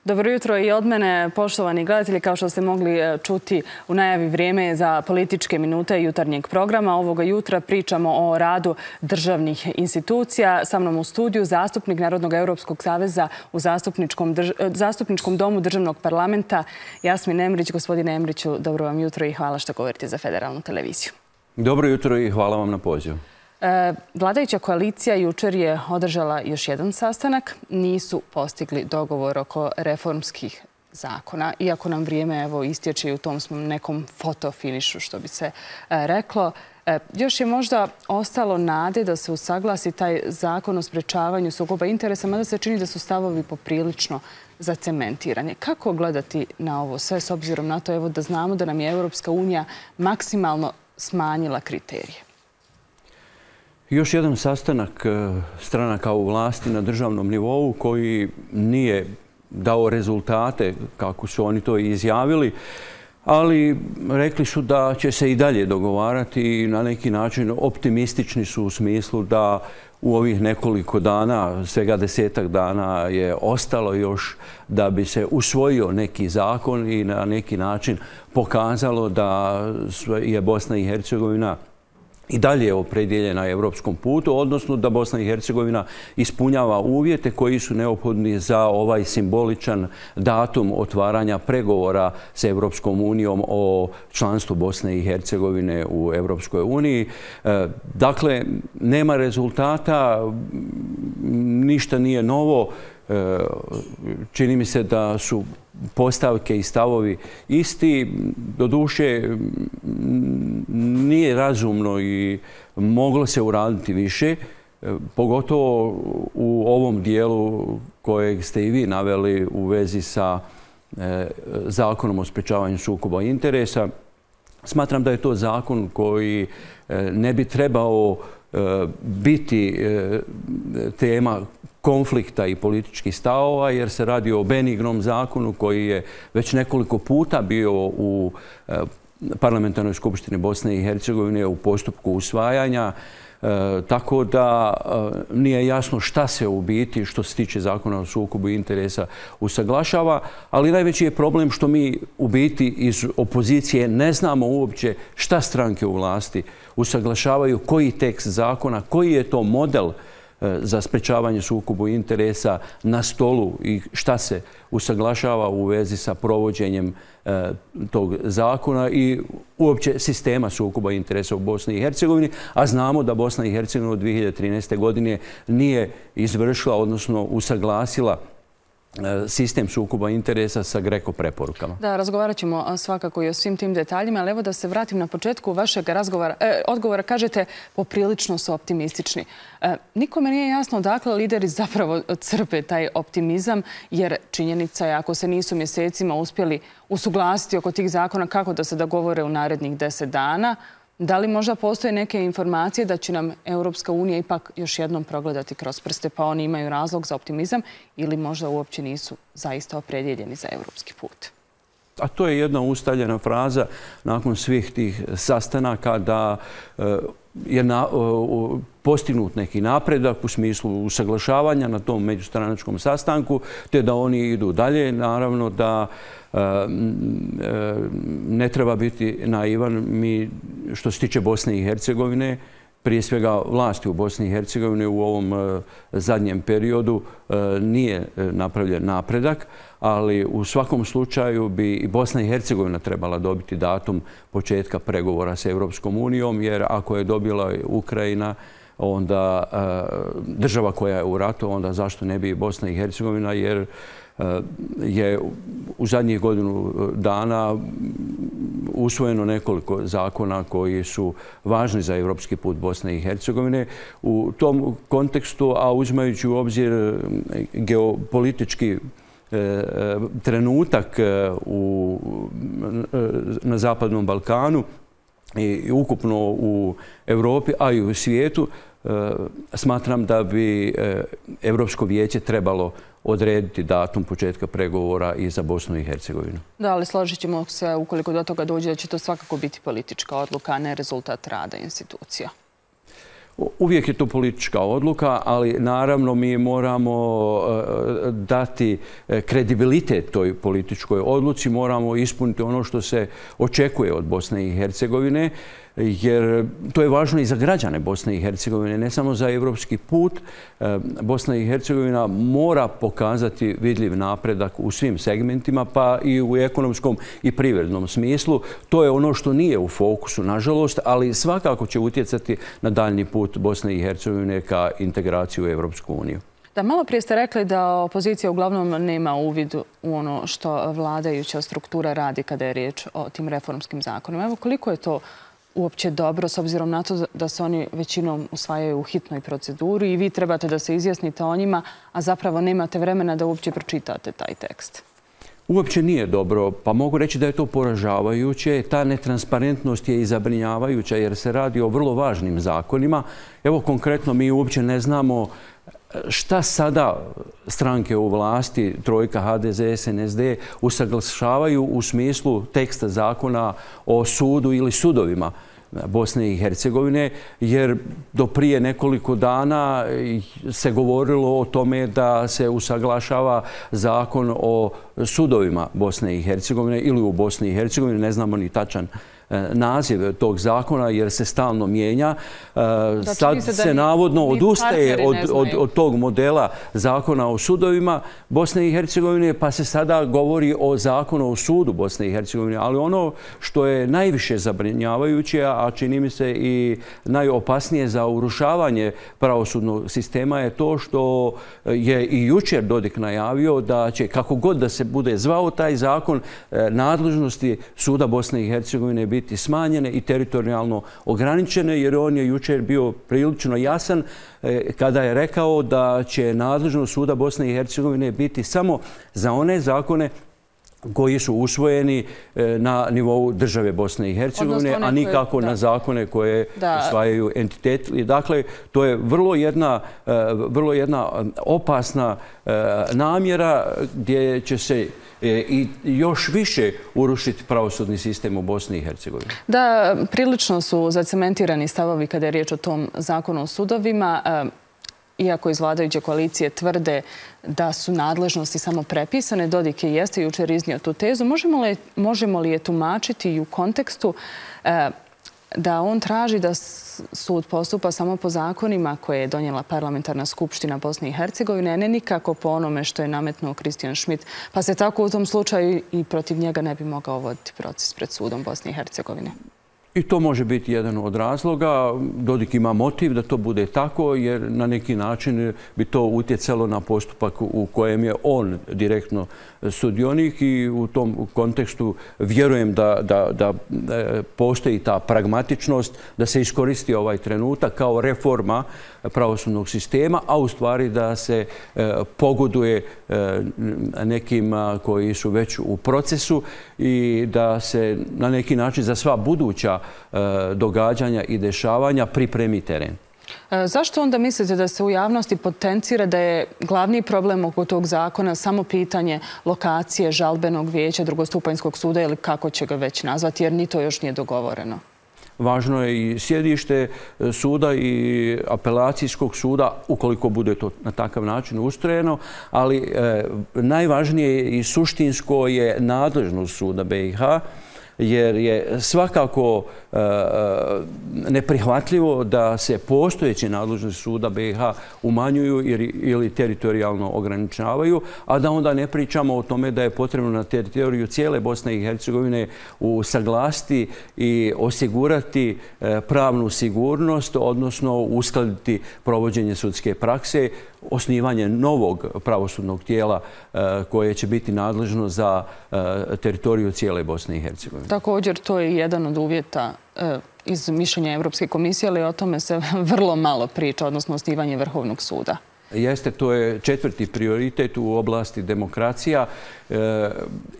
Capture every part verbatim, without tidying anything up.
Dobro jutro i od mene, poštovani gledatelji. Kao što ste mogli čuti u najavi, vrijeme je za političke minute jutarnjeg programa. Ovoga jutra pričamo o radu državnih institucija. Sa mnom u studiju zastupnik Narodnog Europskog saveza u Zastupničkom, drž... Zastupničkom domu Državnog parlamenta Jasmin Emrić. Gospodine Emriću, dobro vam jutro i hvala što govorite za Federalnu televiziju. Dobro jutro i hvala vam na pozivu. Vladajuća koalicija jučer je održala još jedan sastanak. Nisu postigli dogovor oko reformskih zakona, iako nam vrijeme evo istječe i u tom smo nekom fotofinišu, što bi se reklo. Još je možda ostalo nade da se usaglasi taj zakon o sprečavanju sukoba interesa, mada se čini da su stavovi poprilično zacementirani. Kako gledati na ovo sve s obzirom na to evo da znamo da nam je Europska unija maksimalno smanjila kriterije? Još jedan sastanak stranaka u vlasti na državnom nivou koji nije dao rezultate kako su oni to izjavili, ali rekli su da će se i dalje dogovarati i na neki način optimistični su u smislu da u ovih nekoliko dana, svega desetak dana je ostalo još da bi se usvojio neki zakon i na neki način pokazalo da je Bosna i Hercegovina i dalje je opredjeljena na evropskom putu, odnosno da Bosna i Hercegovina ispunjava uvjete koji su neophodni za ovaj simboličan datum otvaranja pregovora s Evropskom unijom o članstvu Bosne i Hercegovine u Evropskoj uniji. Dakle, nema rezultata, ništa nije novo. Čini mi se da su postavke i stavovi isti. Doduše, nije razumno i moglo se uraditi više, pogotovo u ovom dijelu kojeg ste i vi naveli u vezi sa zakonom o sprečavanju sukoba interesa. Smatram da je to zakon koji ne bi trebao biti tema konflikta i političkih stavova, jer se radi o benignom zakonu koji je već nekoliko puta bio u Parlamentarnoj skupštini Bosne i Hercegovine u postupku usvajanja, tako da nije jasno šta se u biti, što se tiče zakona o sukobu interesa, usaglašava, ali najveći je problem što mi u biti iz opozicije ne znamo uopće šta stranke u vlasti usaglašavaju, koji tekst zakona, koji je to model za sprečavanje sukobu interesa na stolu i šta se usaglašava u vezi sa provođenjem tog zakona i uopće sistema sukoba interesa u Bosni i Hercegovini, a znamo da Bosna i Hercegovina od dvije hiljade trinaeste. godine nije izvršila, odnosno usaglasila sistem sukoba interesa sa GRECO preporukama. Da, razgovarat ćemo svakako i o svim tim detaljima, ali evo da se vratim na početku vašeg razgovora, eh, odgovora. Kažete, poprilično su optimistični. Eh, nikome nije jasno odakle lideri zapravo crpe taj optimizam, jer činjenica je ako se nisu mjesecima uspjeli usuglasiti oko tih zakona, kako da se dogovore u narednih deset dana, da li možda postoje neke informacije da će nam Europska unija ipak još jednom progledati kroz prste, pa oni imaju razlog za optimizam, ili možda uopće nisu zaista opredjeljeni za europski put? A to je jedna ustaljena fraza nakon svih tih sastanaka da je na, postignut neki napredak u smislu usaglašavanja na tom međustranačkom sastanku, te da oni idu dalje. Naravno da ne treba biti naivan. Mi, što se tiče Bosne i Hercegovine, prije svega vlasti u Bosni i Hercegovini u ovom zadnjem periodu nije napravljen napredak, ali u svakom slučaju bi i Bosna i Hercegovina trebala dobiti datum početka pregovora s Evropskom unijom, jer ako je dobila Ukrajina, onda država koja je u ratu, onda zašto ne bi i Bosna i Hercegovina, jer je u zadnjih godinu dana usvojeno nekoliko zakona koji su važni za evropski put Bosne i Hercegovine. U tom kontekstu, a uzimajući u obzir geopolitički trenutak u, na Zapadnom Balkanu i ukupno u Europi, a i u svijetu, smatram da bi Europsko vijeće trebalo odrediti datum početka pregovora i za Bosnu i Hercegovinu. Da, ali složit ćemo se, ukoliko do toga dođe, da će to svakako biti politička odluka, a ne rezultat rada institucija. Uvijek je to politička odluka, ali naravno mi moramo dati kredibilitet toj političkoj odluci, moramo ispuniti ono što se očekuje od Bosne i Hercegovine, jer to je važno i za građane Bosne i Hercegovine, ne samo za evropski put. Bosna i Hercegovina mora pokazati vidljiv napredak u svim segmentima, pa i u ekonomskom i privrednom smislu. To je ono što nije u fokusu, nažalost, ali svakako će utjecati na daljni put Bosne i Hercegovine ka integraciju u Evropsku uniju. Da, malo prije ste rekli da opozicija uglavnom nema uvid u ono što vladajuća struktura radi kada je riječ o tim reformskim zakonima. Evo, koliko je to uopće dobro, s obzirom na to da se oni većinom usvajaju u hitnoj proceduri i vi trebate da se izjasnite o njima, a zapravo nemate vremena da uopće pročitate taj tekst? Uopće nije dobro, pa mogu reći da je to poražavajuće. Ta netransparentnost je i zabrinjavajuća jer se radi o vrlo važnim zakonima. Evo, konkretno mi uopće ne znamo šta sada stranke u vlasti, Trojka, H D Z, S N S D, usaglašavaju u smislu teksta zakona o sudu ili sudovima Bosne i Hercegovine, jer do prije nekoliko dana se govorilo o tome da se usaglašava zakon o sudovima Bosne i Hercegovine ili u Bosni i Hercegovini, ne znamo ni tačan naziv tog zakona jer se stalno mijenja. Sad se navodno odustaje od tog modela zakona o sudovima Bosne i Hercegovine, pa se sada govori o zakonu o sudu Bosne i Hercegovine. Ali ono što je najviše zabrinjavajuće, a čini mi se i najopasnije za urušavanje pravosudnog sistema, je to što je i jučer Dodik najavio da će, kako god da se bude zvao taj zakon, nadležnosti suda Bosne i Hercegovine biti biti smanjene i teritorijalno ograničene, jer on je jučer bio prilično jasan kada je rekao da će nadležnost suda Bosne i Hercegovine biti samo za one zakone koji su usvojeni na nivou države Bosne i Hercegovine, a nikako na zakone koje usvajaju entiteti. Dakle, to je vrlo jedna, vrlo jedna opasna namjera gdje će se i još više urušiti pravosudni sistem u Bosni i Hercegovini. Da, prilično su zacementirani stavovi kada je riječ o tom zakonu o sudovima. Iako iz vladajuće koalicije tvrde da su nadležnosti samo prepisane, Dodik je jeste jučer iznio tu tezu. Možemo li, možemo li je tumačiti i u kontekstu e, da on traži da sud postupa samo po zakonima koje je donijela parlamentarna skupština Bosne i Hercegovine, a ne nikako po onome što je nametnuo Christian Schmidt, pa se tako u tom slučaju i protiv njega ne bi mogao voditi proces pred sudom Bosne i Hercegovine? I to može biti jedan od razloga. Dodik ima motiv da to bude tako, jer na neki način bi to utjecalo na postupak u kojem je on direktno sudionik i u tom kontekstu vjerujem da, da, da postoji ta pragmatičnost da se iskoristi ovaj trenutak kao reforma pravosudnog sistema, a u stvari da se pogoduje nekim koji su već u procesu i da se na neki način za sva buduća događanja i dešavanja pripremi teren. Zašto onda mislite da se u javnosti potencira da je glavni problem oko tog zakona samo pitanje lokacije žalbenog vijeća drugostupanjskog suda ili kako će ga već nazvati, jer ni to još nije dogovoreno? Važno je i sjedište suda i apelacijskog suda, ukoliko bude to na takav način ustrojeno, ali e, najvažnije i suštinsko je nadležnost suda B i H, jer je svakako e, neprihvatljivo da se postojeće nadležnosti suda B i H umanjuju ili teritorijalno ograničavaju, a da onda ne pričamo o tome da je potrebno na teritoriju cijele Bosne i Hercegovine usaglasiti i osigurati e, pravnu sigurnost, odnosno uskladiti provođenje sudske prakse, osnivanje novog pravosudnog tijela e, koje će biti nadležno za e, teritoriju cijele Bosne i Hercegovine. Također, to je jedan od uvjeta e, iz mišljenja Evropske komisije, ali o tome se vrlo malo priča, odnosno osnivanje Vrhovnog suda. Jeste, to je četvrti prioritet u oblasti demokracija e,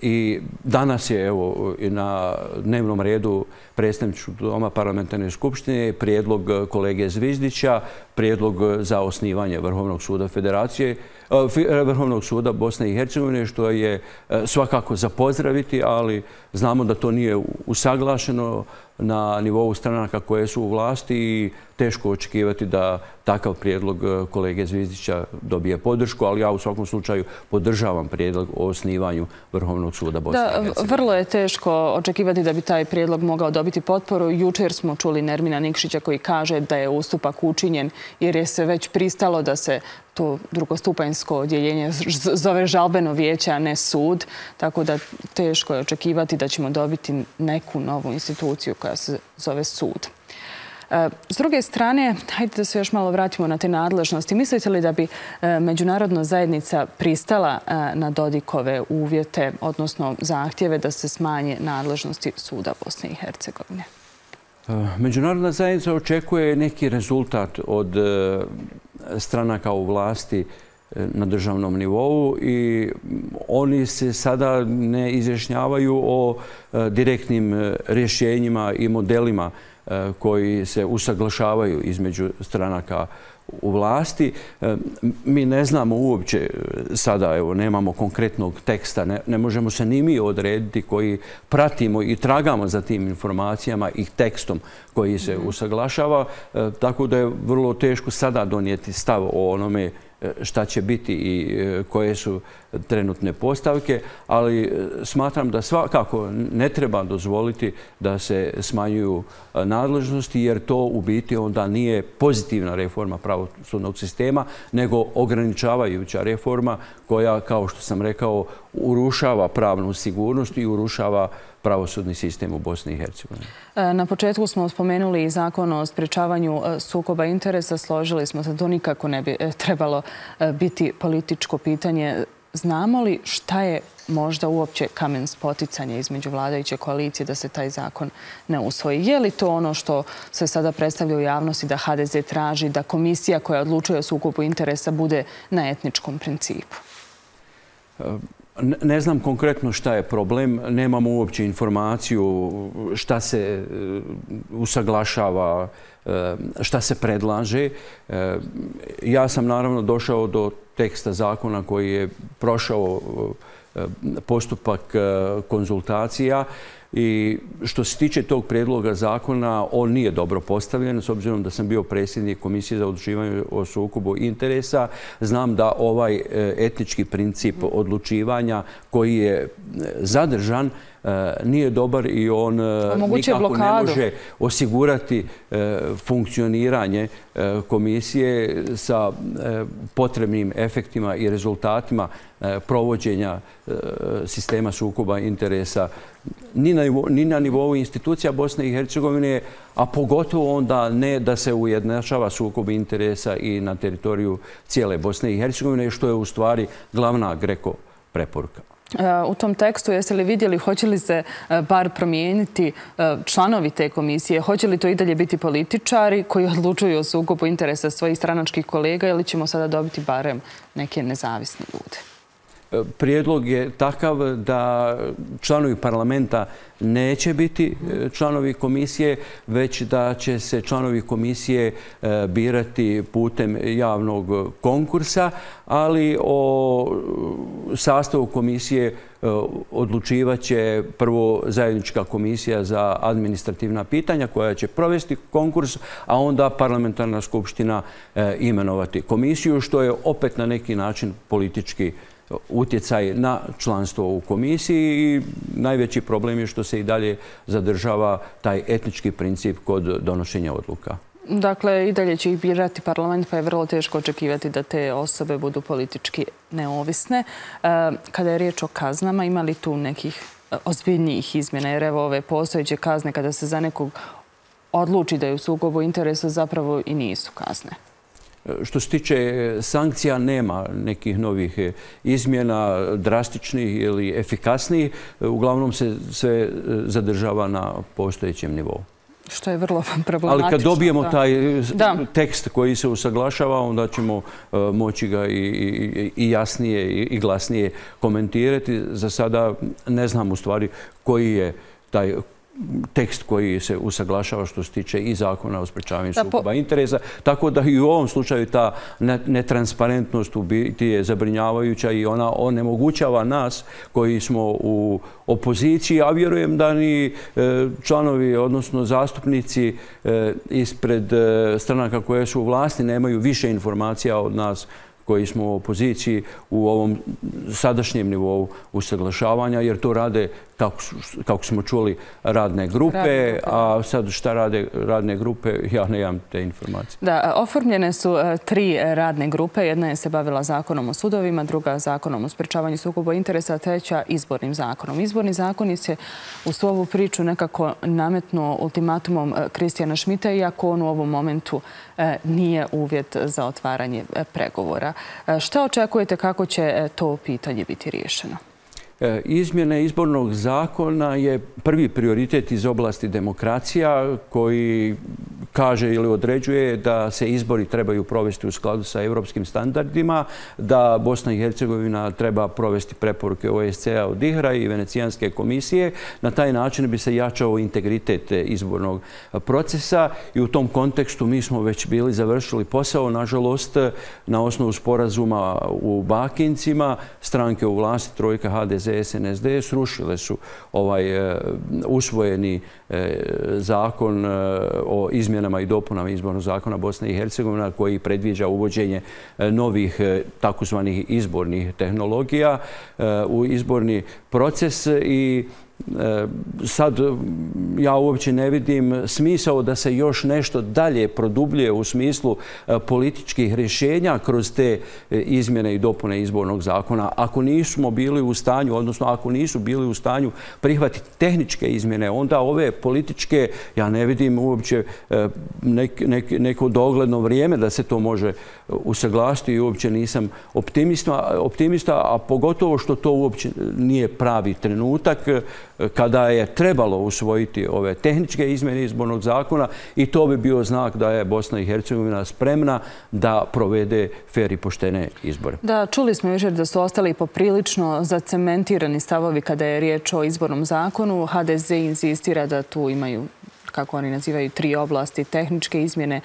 i danas je evo, na dnevnom redu predstavničkog doma parlamentarne skupštine prijedlog kolege Zvizdića, prijedlog za osnivanje Vrhovnog suda Federacije, Vrhovnog suda Bosne i Hercegovine, što je svakako za pozdraviti, ali znamo da to nije usaglašeno na nivou stranaka koje su u vlasti i teško očekivati da takav prijedlog kolege Zvizdića dobije podršku, ali ja u svakom slučaju podržavam prijedlog o osnivanju Vrhovnog suda Bosne i Hercegovine. Da, vrlo je teško očekivati da bi taj prijedlog mogao dobiti potporu. Jučer smo čuli Nermina Nikšića koji kaže da je ustupak učinjen jer je se već pristalo da se to drugostupanjsko odjeljenje zove žalbeno vijeće, a ne sud. Tako da teško je očekivati da ćemo dobiti neku novu instituciju koja se zove sud. S druge strane, hajde da se još malo vratimo na te nadležnosti. Mislite li da bi međunarodna zajednica pristala na Dodikove uvjete, odnosno zahtjeve da se smanje nadležnosti suda Bosne i Hercegovine? Međunarodna zajednica očekuje neki rezultat od stranaka u vlasti na državnom nivou i oni se sada ne izjašnjavaju o direktnim rješenjima i modelima koji se usaglašavaju između stranaka u vlasti. Mi ne znamo uopće sada, evo, nemamo konkretnog teksta, ne, ne možemo se ni mi odrediti koji pratimo i tragamo za tim informacijama i tekstom koji se usaglašava, tako da je vrlo teško sada donijeti stav o onome šta će biti i koje su trenutne postavke, ali smatram da svakako ne treba dozvoliti da se smanjuju nadležnosti, jer to u biti onda nije pozitivna reforma pravosudnog sistema, nego ograničavajuća reforma koja, kao što sam rekao, urušava pravnu sigurnost i urušava pravosudni sistem u Bosni i Hercegovini. Na početku smo spomenuli i zakon o sprečavanju sukoba interesa. Složili smo se da to nikako ne bi trebalo biti političko pitanje. Znamo li šta je možda uopće kamen spoticanja između vladajuće koalicije da se taj zakon ne usvoji? Je li to ono što se sada predstavlja u javnosti da H D Z traži da komisija koja odlučuje o sukobu interesa bude na etničkom principu? Ne znam konkretno šta je problem, nemamo uopće informaciju šta se usaglašava, šta se predlaže. Ja sam naravno došao do teksta zakona koji je prošao postupak konzultacija i što se tiče tog prijedloga zakona, on nije dobro postavljen, s obzirom da sam bio predsjednik Komisije za odlučivanje o sukobu interesa. Znam da ovaj etnički princip odlučivanja koji je zadržan nije dobar i on nikako ne može osigurati funkcioniranje komisije sa potrebnim efektima i rezultatima provođenja sistema sukoba interesa ni na nivou institucija Bosne i Hercegovine, a pogotovo onda ne da se ujednačava sukob interesa i na teritoriju cijele Bosne i Hercegovine, što je u stvari glavna GRECO preporuka. U tom tekstu jeste li vidjeli hoće li se bar promijeniti članovi te komisije? Hoće li to i dalje biti političari koji odlučuju o sukobu interesa svojih stranačkih kolega ili ćemo sada dobiti barem neke nezavisne ljude? Prijedlog je takav da članovi parlamenta neće biti članovi komisije, već da će se članovi komisije birati putem javnog konkursa, ali o sastavu komisije odlučivat će prvo zajednička komisija za administrativna pitanja koja će provesti konkurs, a onda parlamentarna skupština imenovati komisiju, što je opet na neki način politički utjecaj na članstvo u komisiji i najveći problem je što se i dalje zadržava taj etnički princip kod donošenja odluka. Dakle, i dalje će ih birati parlament, pa je vrlo teško očekivati da te osobe budu politički neovisne. Kada je riječ o kaznama, ima li tu nekih ozbiljnijih izmjena? Jer evo ove postojeće kazne, kada se za nekog odluči da je u sukobu interesa, zapravo i nisu kazne. Što se tiče sankcija, nema nekih novih izmjena, drastičnih ili efikasnijih. Uglavnom se sve zadržava na postojećem nivou. Što je vrlo problematično. Ali kad dobijemo taj tekst koji se usaglašava, onda ćemo moći ga i jasnije i glasnije komentirati. Za sada ne znam u stvari koji je taj tekst koji se usaglašava što se tiče i zakona o sprečavanju sukoba interesa. Tako da i u ovom slučaju ta netransparentnost u biti je zabrinjavajuća i ona onemogućava nas koji smo u opoziciji, a vjerujem da ni članovi, odnosno zastupnici ispred stranaka koje su u vlasti nemaju više informacija od nas koji smo u opoziciji u ovom sadašnjem nivou usaglašavanja, jer to rade, kako smo čuli, radne grupe, a sad šta rade radne grupe, ja nemam te informacije. Da, oformljene su tri radne grupe. Jedna je se bavila zakonom o sudovima, druga zakonom o sprečavanju sukoba interesa, a treća izbornim zakonom. Izborni zakon je se u svu ovu priču nekako nametnuo ultimatumom Kristijana Šmita, iako on u ovom momentu nije uvjet za otvaranje pregovora. Šta očekujete kako će to pitanje biti riješeno? Izmjene izbornog zakona je prvi prioritet iz oblasti demokracija koji kaže ili određuje da se izbori trebaju provesti u skladu sa evropskim standardima, da Bosna i Hercegovina treba provesti preporuke O E S C E-a od I H R-a i Venecijanske komisije. Na taj način bi se jačao integritet izbornog procesa i u tom kontekstu mi smo već bili završili posao. Nažalost, na osnovu sporazuma u Bakincima, stranke u vlasti, Trojka, H D Z, S N S D, srušile su ovaj usvojeni zakon o izmjenama i dopunama izbornog zakona Bosne i Hercegovine koji predviđa uvođenje novih takozvanih izbornih tehnologija u izborni proces i sad ja uopće ne vidim smisao da se još nešto dalje produbljuje u smislu političkih rješenja kroz te izmjene i dopune izbornog zakona. Ako nismo bili u stanju, odnosno ako nisu bili u stanju prihvatiti tehničke izmjene, onda ove političke, ja ne vidim uopće neko dogledno vrijeme da se to može usaglasiti i uopće nisam optimista, a pogotovo što to uopće nije pravi trenutak kada je trebalo usvojiti ove tehničke izmjene izbornog zakona i to bi bio znak da je Bosna i Hercegovina spremna da provede fer i poštene izbore. Da, čuli smo jučer da su ostali poprilično zacementirani stavovi kada je riječ o izbornom zakonu. H D Z insistira da tu imaju, kako oni nazivaju, tri oblasti: tehničke izmjene,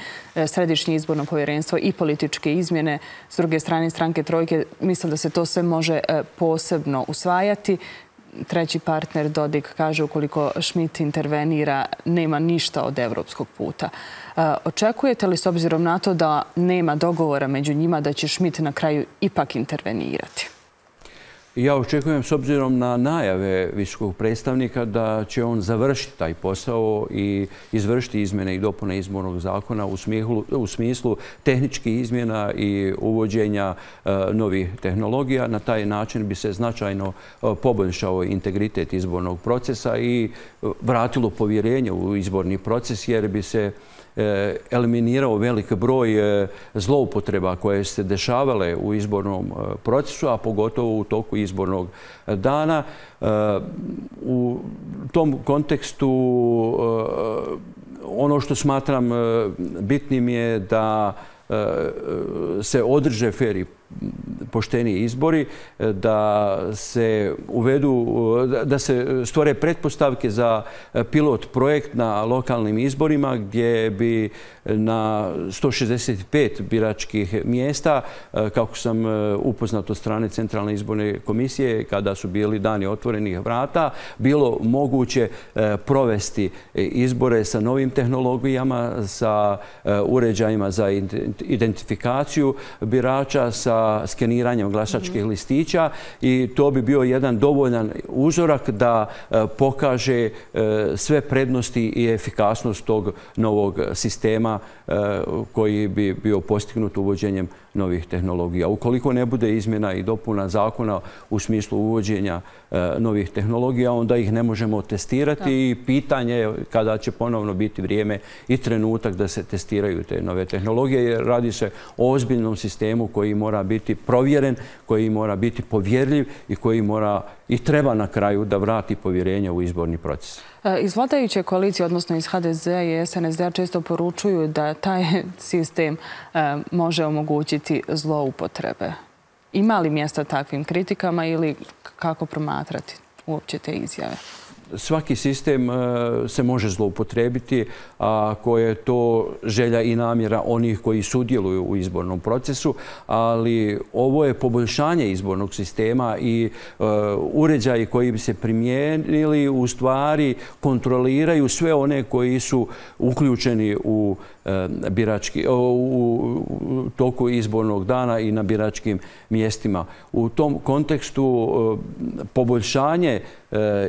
središnje izborno povjerenstvo i političke izmjene. S druge strane, stranke Trojke misle da se to sve može posebno usvajati. Treći partner, Dodik, kaže ukoliko Šmit intervenira, nema ništa od evropskog puta. Očekujete li, s obzirom na to da nema dogovora među njima, da će Šmit na kraju ipak intervenirati? Ja očekujem, s obzirom na najave visokog predstavnika, da će on završiti taj posao i izvršiti izmjene i dopune izbornog zakona u smislu tehničkih izmjena i uvođenja novih tehnologija. Na taj način bi se značajno poboljšao integritet izbornog procesa i vratilo povjerenje u izborni proces, jer bi se eliminirao velik broj zloupotreba koje se dešavale u izbornom procesu, a pogotovo u toku izbornog dana. U tom kontekstu ono što smatram bitnim je da se održe fer i pošteni izbori, da se uvedu, da se stvore pretpostavke za pilot projekt na lokalnim izborima gdje bi na sto šezdeset pet biračkih mjesta, kako sam upoznat od strane Centralne izborne komisije kada su bili dani otvorenih vrata, bilo moguće provesti izbore sa novim tehnologijama, sa uređajima za identifikaciju birača, sa skeniranjem glasačkih listića i to bi bio jedan dovoljan uzorak da pokaže sve prednosti i efikasnost tog novog sistema koji bi bio postignut uvođenjem novih tehnologija. Ukoliko ne bude izmjena i dopuna zakona u smislu uvođenja novih tehnologija, onda ih ne možemo testirati i pitanje je kada će ponovno biti vrijeme i trenutak da se testiraju te nove tehnologije, jer radi se o ozbiljnom sistemu koji mora biti provjeren, koji mora biti povjerljiv i koji mora i treba na kraju da vrati povjerenje u izborni proces. Iz vladajuće koalicije, odnosno iz H D Z i S N S D-a, često poručuju da taj sistem može omogućiti zloupotrebe. Ima li mjesta takvim kritikama ili kako promatrati uopće te izjave? svaki sistem se može zloupotrijebiti, ako je to želja i namjera onih koji sudjeluju u izbornom procesu, ali ovo je poboljšanje izbornog sistema i uređaji koji bi se primijenili u stvari kontroliraju sve one koji su uključeni u birački, u toku izbornog dana i na biračkim mjestima. U tom kontekstu poboljšanje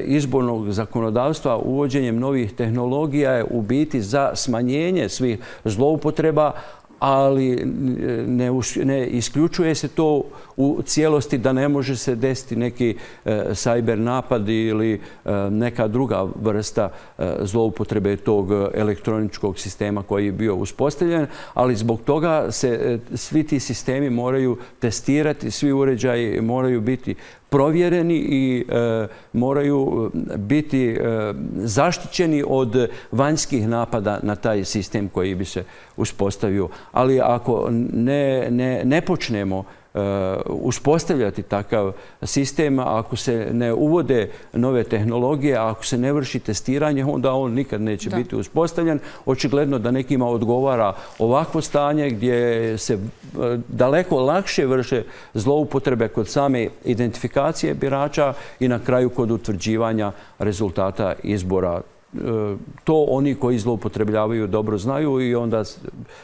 izbornog zakonodavstva uvođenjem novih tehnologija je u biti za smanjenje svih zloupotreba, ali ne, ne isključuje se to u cijelosti da ne može se desiti neki e, cyber napad ili e, neka druga vrsta e, zloupotrebe tog elektroničkog sistema koji je bio uspostavljen, ali zbog toga se e, svi ti sistemi moraju testirati, svi uređaji moraju biti provjereni i e, moraju biti e, zaštićeni od vanjskih napada na taj sistem koji bi se uspostavio. Ali ako ne, ne, ne počnemo uspostavljati takav sistem, ako se ne uvode nove tehnologije, ako se ne vrši testiranje, onda on nikad neće da. biti uspostavljen. Očigledno da nekima odgovara ovakvo stanje gdje se daleko lakše vrše zloupotrebe kod same identifikacije birača i na kraju kod utvrđivanja rezultata izbora. To oni koji zloupotrebljavaju dobro znaju i onda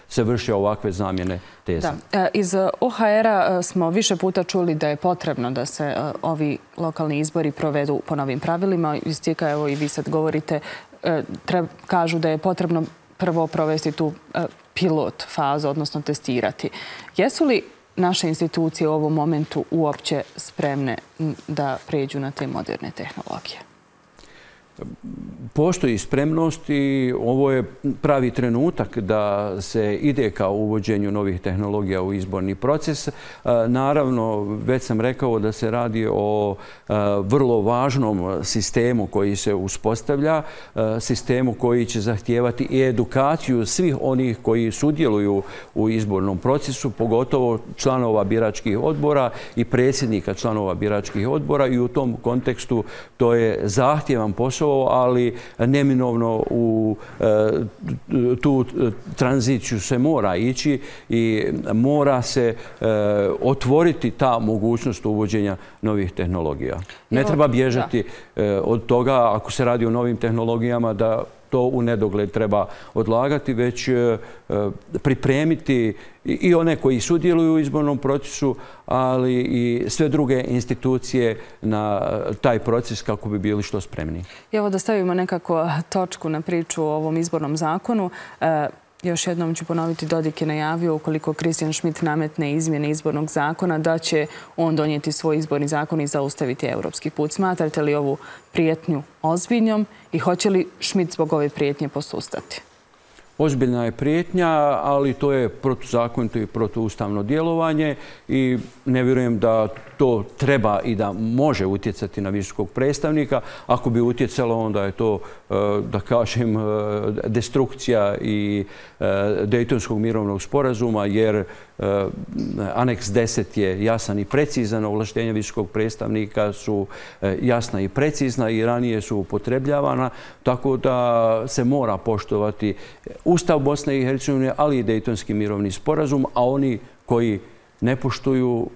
se vrše ovakve zamjene teza. Da. Iz O H R-a smo više puta čuli da je potrebno da se ovi lokalni izbori provedu po novim pravilima. Iz Cika, evo i vi sad govorite, kažu da je potrebno prvo provesti tu pilot fazu, odnosno testirati. Jesu li naše institucije u ovom momentu uopće spremne da pređu na te moderne tehnologije? Postoji spremnost i ovo je pravi trenutak da se ide ka uvođenju novih tehnologija u izborni proces. Naravno, već sam rekao da se radi o vrlo važnom sistemu koji se uspostavlja, sistemu koji će zahtijevati i edukaciju svih onih koji sudjeluju u izbornom procesu, pogotovo članova biračkih odbora i predsjednika članova biračkih odbora, i u tom kontekstu to je zahtjevan posao, ali neminovno u tu tranziciju se mora ići i mora se otvoriti ta mogućnost uvođenja novih tehnologija. Ne treba bježati od toga, ako se radi o novim tehnologijama, da to u nedogled treba odlagati, već pripremiti i one koji sudjeluju u izbornom procesu, ali i sve druge institucije na taj proces kako bi bili što spremni. Evo da stavimo nekako točku na priču o ovom izbornom zakonu. Još jednom ću ponoviti, Dodik je najavio ukoliko Christian Schmidt nametne izmjene izbornog zakona da će on donijeti svoj izborni zakon i zaustaviti europski put. Smatrate li ovu prijetnju ozbiljnom i hoće li Schmidt zbog ove prijetnje posustati? Ozbiljna je prijetnja, ali to je protuzakonito i protuustavno djelovanje i ne vjerujem da to treba i da može utjecati na visokog predstavnika. Ako bi utjecalo, onda je to, da kažem, destrukcija i Dejtonskog mirovnog sporazuma, jer Aneks deset je jasan i precizan, ovlaštenja visokog predstavnika su jasna i precizna i ranije su upotrebljavana, tako da se mora poštovati Ustav Bosne i Hercegovine, ali i Dejtonski mirovni sporazum, a oni koji ne poštuju,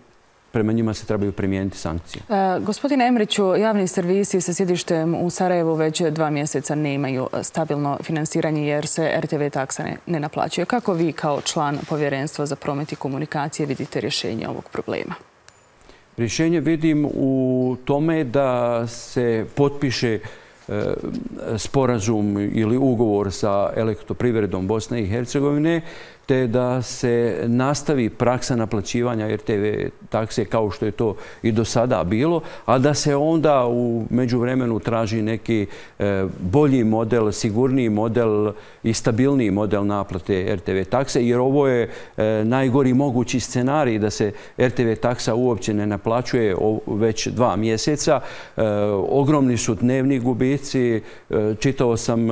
prema njima se trebaju primijeniti sankcije. E, gospodine Emriću, javni servisi sa sjedištem u Sarajevu već dva mjeseca nemaju stabilno finansiranje jer se R T V taksa ne, ne naplaćuje. Kako vi kao član Povjerenstva za promet i komunikacije vidite rješenje ovog problema? Rješenje vidim u tome da se potpiše sporazum ili ugovor sa Elektroprivredom Bosne i Hercegovine, te da se nastavi praksa naplaćivanja R T V takse kao što je to i do sada bilo, a da se onda u međuvremenu traži neki bolji model, sigurniji model i stabilniji model naplate R T V takse, jer ovo je najgori mogući scenarij da se R T V taksa uopće ne naplaćuje već dva mjeseca. Ogromni su dnevni gubici. Čitao sam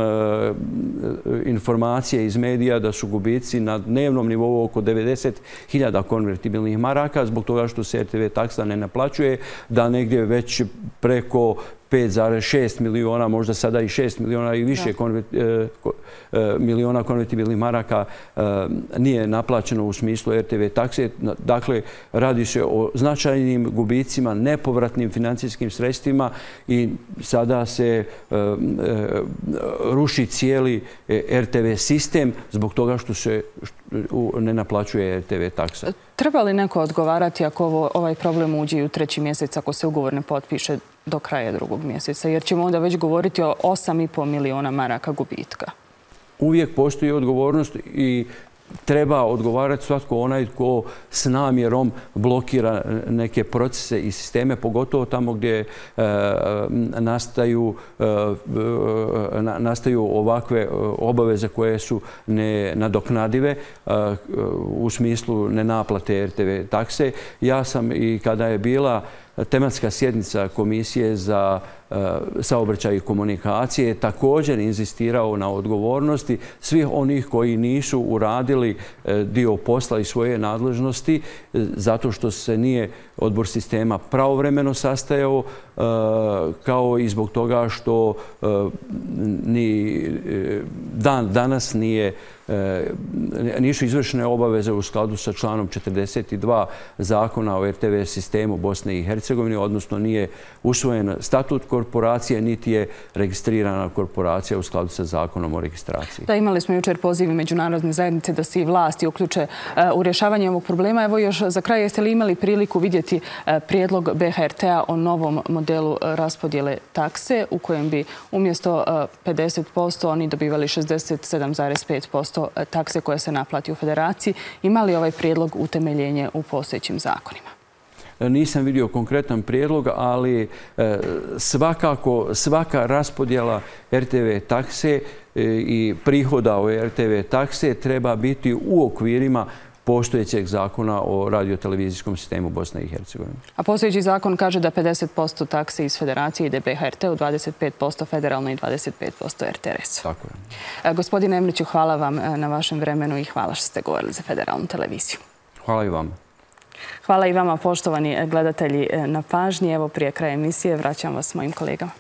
informacije iz medija da su gubici na dnevnom nivou oko devedeset hiljada konvertibilnih maraka zbog toga što se R T V taksa ne naplaćuje, da negdje već preko pet zarez šest miliona, možda sada i šest miliona i više miliona konvertibilnih maraka nije naplaćeno u smislu er te ve takse. Dakle, radi se o značajnim gubicima, nepovratnim financijskim sredstvima i sada se ruši cijeli er te ve sistem zbog toga što se ne naplaćuje er te ve taksa. Treba li neko odgovarati ako ovaj problem uđe u treći mjesec, ako se ugovor ne potpiše do kraja drugog mjeseca? Jer ćemo onda već govoriti o osam i pol miliona maraka gubitka. Uvijek postoji odgovornost i treba odgovarati svatko onaj ko s namjerom blokira neke procese i sisteme, pogotovo tamo gdje nastaju, nastaju ovakve obaveze koje su nenadoknadive u smislu nenaplate er te ve takse. Ja sam i kada je bila tematska sjednica Komisije za saobraćaj i komunikacije također inzistirao na odgovornosti svih onih koji nisu uradili dio posla i svoje nadležnosti zato što se nije odbor sistema pravovremeno sastajao, kao i zbog toga što ni dan danas nije nisu izvršene obaveze u skladu sa članom četrdeset dva Zakona o er te ve sistemu Bosne i Hercegovine, odnosno nije usvojen statut korporacije, niti je registrirana korporacija u skladu sa Zakonom o registraciji. Da, imali smo jučer poziv međunarodne zajednice da se i vlasti uključe u rješavanje ovog problema. Evo još za kraj, jeste li imali priliku vidjeti prijedlog be ha er te-a o novom modelu raspodjele takse u kojem bi umjesto pedeset posto oni dobivali šezdeset sedam zarez pet posto takse koje se naplati u federaciji? Ima li ovaj prijedlog utemeljenje u postojećim zakonima? Nisam vidio konkretan prijedlog, ali svakako svaka raspodjela er te ve takse i prihoda o er te ve takse treba biti u okvirima postojećeg zakona o radiotelevizijskom sistemu Bosne i Hercegovine. A postojeći zakon kaže da pedeset posto takse iz federacije ide be ha er te-u, dvadeset pet posto federalno i dvadeset pet posto er te er es-u. Tako je. Gospodine Emriću, hvala vam na vašem vremenu i hvala što ste govorili za Federalnu televiziju. Hvala i vama. Hvala i vama, poštovani gledatelji, na pažnji. Evo, prije kraja emisije vraćam vas s mojim kolegama.